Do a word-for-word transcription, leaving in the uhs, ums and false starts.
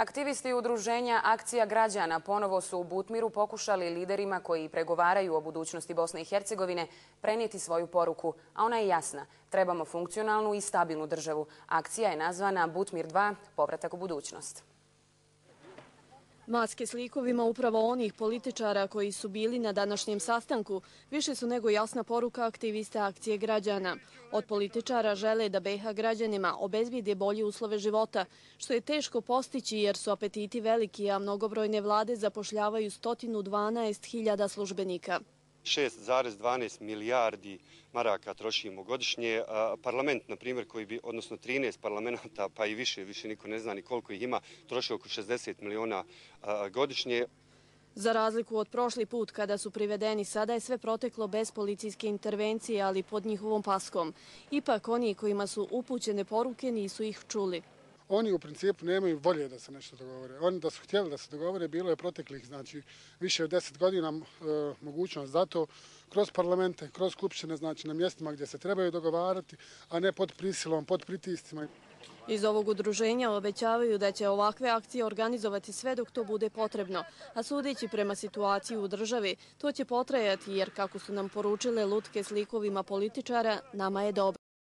Aktivisti udruženja Akcija građana ponovo su u Butmiru pokušali liderima koji pregovaraju o budućnosti Bosne i Hercegovine prenijeti svoju poruku, a ona je jasna. Trebamo funkcionalnu i stabilnu državu. Akcija je nazvana Butmir dva, povratak u budućnost. Maske s likovima upravo onih političara koji su bili na današnjem sastanku više su nego jasna poruka aktivista Akcije građana. Od političara žele da be ha građanima obezbijede bolje uslove života, što je teško postići jer su apetiti veliki, a mnogobrojne vlade zapošljavaju sto dvanaest hiljada službenika. šest zarez dvanaest milijardi maraka trošimo godišnje. Parlament, na primjer, koji bi, odnosno trinaest parlamenta, pa i više, više niko ne zna ni koliko ih ima, troši oko šezdeset miliona godišnje. Za razliku od prošli put kada su privedeni, sada je sve proteklo bez policijske intervencije, ali pod njihovom paskom. Ipak oni kojima su upućene poruke nisu ih čuli. Oni u principu nemaju volje da se nešto dogovore. Oni da su htjeli da se dogovore, bilo je proteklih, znači više od deset godina e, mogućnost za to kroz parlamente, kroz skupštine, znači na mjestima gdje se trebaju dogovarati, a ne pod prisilom, pod pritiscima. Iz ovog udruženja obećavaju da će ovakve akcije organizovati sve dok to bude potrebno, a sudeći prema situaciji u državi, to će potrajati jer, kako su nam poručile lutke s likovima političara, nama je dobro.